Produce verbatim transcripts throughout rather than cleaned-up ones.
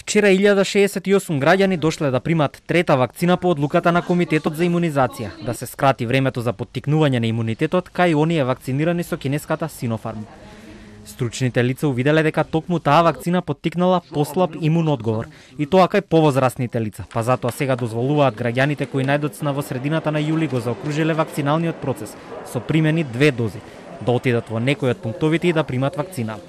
Вчера илјада шеесет и осум граѓани дошле да примат трета вакцина по одлуката на Комитетот за имунизација, да се скрати времето за поттикнување на имунитетот кај оние вакцинирани со кинеската Sinopharm. Стручните лица увиделе дека токму таа вакцина поттикнала послаб имун одговор, и тоа кај повозрастните лица, па затоа сега дозволуваат граѓаните кои најдоцна во средината на јули го заокружиле вакциналниот процес со примени две дози, да отидат во некој од пунктовите и да примат вакцина.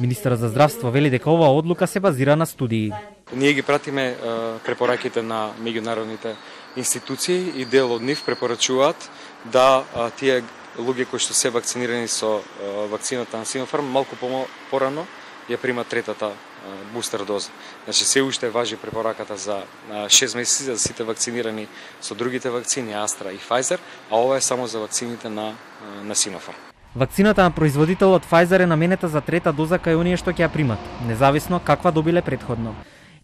Министерот за здравство вели дека оваа одлука се базира на студии. Ние ги пратиме препораките на меѓународните институции и дел од нив препорачуваат да тие луѓе кои што се вакцинирани со вакцината на Sinopharm малку порано ја примат третата бустер доза. Значи се уште важи препораката за шест месеци за сите вакцинирани со другите вакцини Astra и Pfizer, а ова е само за вакцините на на Sinopharm. Вакцината на производителот Pfizer е наменета за трета доза кај оние што ќе ја примат, независно каква добиле претходно.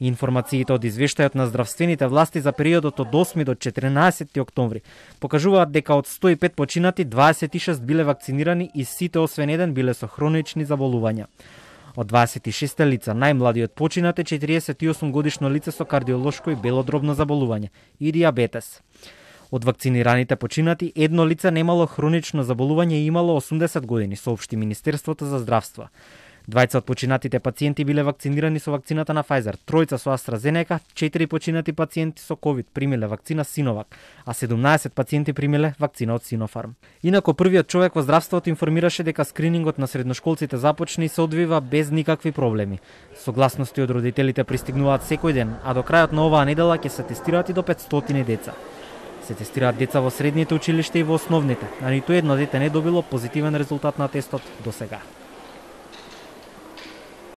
Информациите од извештајот на здравствените власти за периодот од осми до четиринаесети октомври покажуваат дека од сто и пет починати дваесет и шест биле вакцинирани и сите освен еден биле со хронични заболувања. Од дваесет и шест лица, најмладиот починат е четириесет и осум годишно лице со кардиолошко и белодробно заболување и диабетес. Од вакцинираните починати, едно лице немало хронично заболување и имало осумдесет години, соопшти Министерството за здравство. Двајца од починатите пациенти биле вакцинирани со вакцината на Pfizer, тројца со AstraZeneca, четири починати пациенти со COVID примиле вакцина Sinovac, а седумнаесет пациенти примиле вакцина од Sinopharm. Инако првиот човек во здравството информираше дека скринингот на средношколците започна и се одвива без никакви проблеми. Согласности од родителите пристигнуваат секој ден, а до крајот на оваа недела ќе се тестираат и до петстотини деца. Се тестираат деца во средните училишта и во основните, а ниту едно дете не добило позитивен резултат на тестот до сега.